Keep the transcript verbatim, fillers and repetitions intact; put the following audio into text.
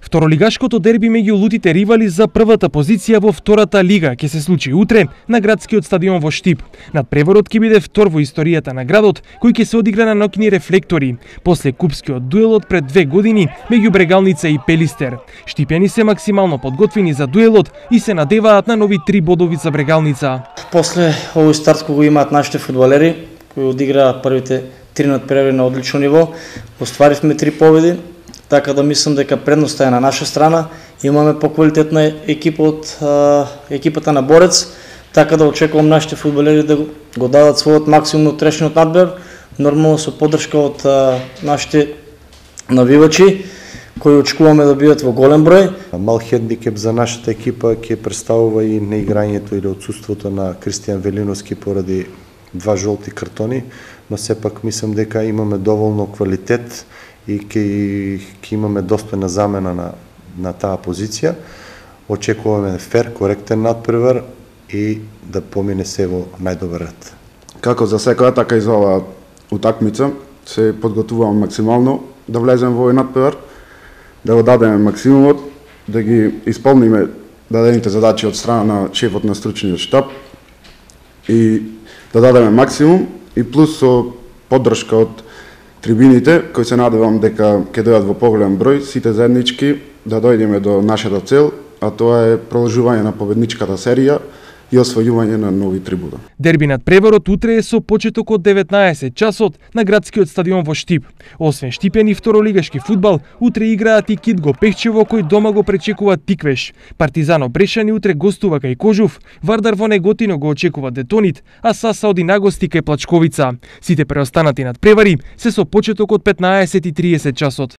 Второлигашкото дерби меѓу лутите ривали за првата позиција во втората лига ќе се случи утре на градскиот стадион во Штип. Надпреворот ќе биде втор во историјата на градот, кој ќе се одигра на ноќни рефлектори, после купскиот дуелот пред две години меѓу Брегалница и Пелистер. Штипјани се максимално подготвени за дуелот и се надеваат на нови три бодови за Брегалница. После овој старт кој го имаат нашите фудбалери, кои одиграа првите три надпревари на одлично ниво, остваривме три победи. Така да мислам дека предноста е на наша страна. Имаме поквалитетна екипа од а, екипата на Борец, така да очекувам нашите фудбалери да го дадат својот максимум од утрешниот надбор, нормално со поддршка од а, нашите навивачи, кои очекуваме да бидат во голем број. Мал хендикеп за нашата екипа ќе представува и неиграњето или отсуството на Кристијан Велиновски поради два жолти картони, но сепак мислам дека имаме доволно квалитет и ќе ќе имаме достојна замена на на таа позиција. Очекуваме фер, коректен надпревар и да помине се во најдобар ред. Како за секоја, така и за оваа утакмица се подготвувам максимално да влезем во овој надпревар, да го дадеме максимумот, да ги исполниме дадените задачи од страна на шефот на стручниот штаб и да дадеме максимум и плюс со поддршка од трибините, кои се надевам дека ќе дојдат во поголем број, сите заеднички да дојдеме до нашата цел, а тоа е продолжување на победничката серија и освојување на нови трибуна. Дерби надпреварот утре е со почеток од деветнаесет часот на градскиот стадион во Штип. Освен штипјани второлигашки фудбал, утре играат и Китго Пехчево кој дома го пречекува Тиквеш. Партизано Брешани утре гостува кај Кожув, Вардар во Неготино го очекува Детонит, а Саса оди на гости кај Плачковица. Сите преостанати надпревари се со почеток од петнаесет и триесет часот.